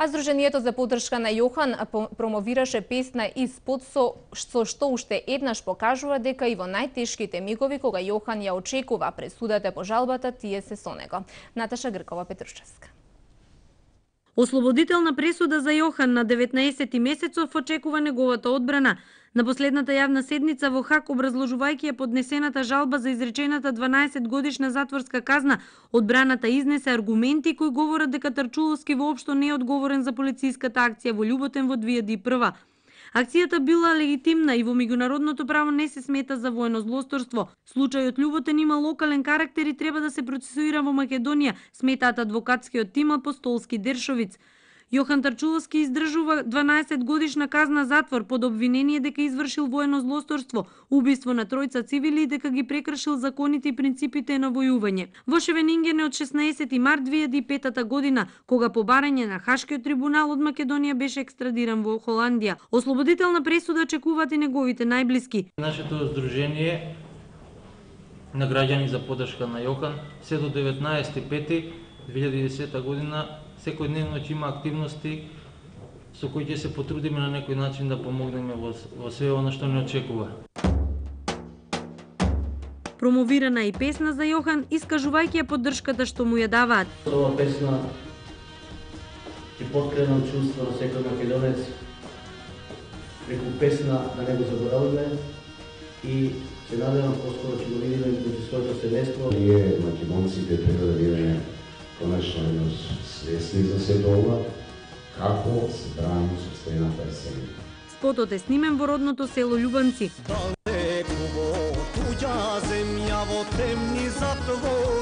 А Сдруженијето за поддршка на Јохан промовираше песна Испод со што уште еднаш покажува дека и во најтешките мигови кога Јохан ја очекува пресудата по жалбата, тие се со него. Наташа Гркова, Петрушевска. Ослободителна пресуда за Јохан на 19 месецов очекува неговата одбрана. На последната јавна седница во Хаг, образложувајќи ја поднесената жалба за изречената 12-годишна затворска казна, одбраната изнесе аргументи кои говорат дека Тарчуловски воопшто не е одговорен за полициската акција во Љуботен во 2001. Акцијата била легитимна и во меѓународното право не се смета за воено злосторство. Случајот Љуботен има локален карактер и треба да се процесуира во Македонија, сметаат адвокатскиот тим Апостолски Дершовиц. Јохан Тарчуловски издржува 12-годишна казна затвор под обвинение дека извршил воено злосторство, убиство на тројца цивили и дека ги прекршил законите и принципите на војување. Во Шевенингене од 16 март 2005 година, кога по барање на Хашкиот трибунал од Македонија беше екстрадиран во Холандија. Ослободителна пресуда очекуваат и неговите најблиски. Нашето здружение на граѓани за поддршка на Јохан се до 19.5.2010 година секојдневно ќе има активности со кои ќе се потрудиме на некој начин да помогнеме во све она што не очекува. Промовирана и песна за Јохан, искажувајќи ја поддршката што му ја даваат. Ова песна ќе поткренам чувство на секој македонец, преку песна да не го заборавиме и се надевам поскоро ќе го видиме меѓу своето семејство. Ние македонците треба да бидеме конечно свесни за сето ова, како се бранимо собствената земја. Спотот е снимен во родното село Љубанци. Далеко во туѓа земја, во темни затвори.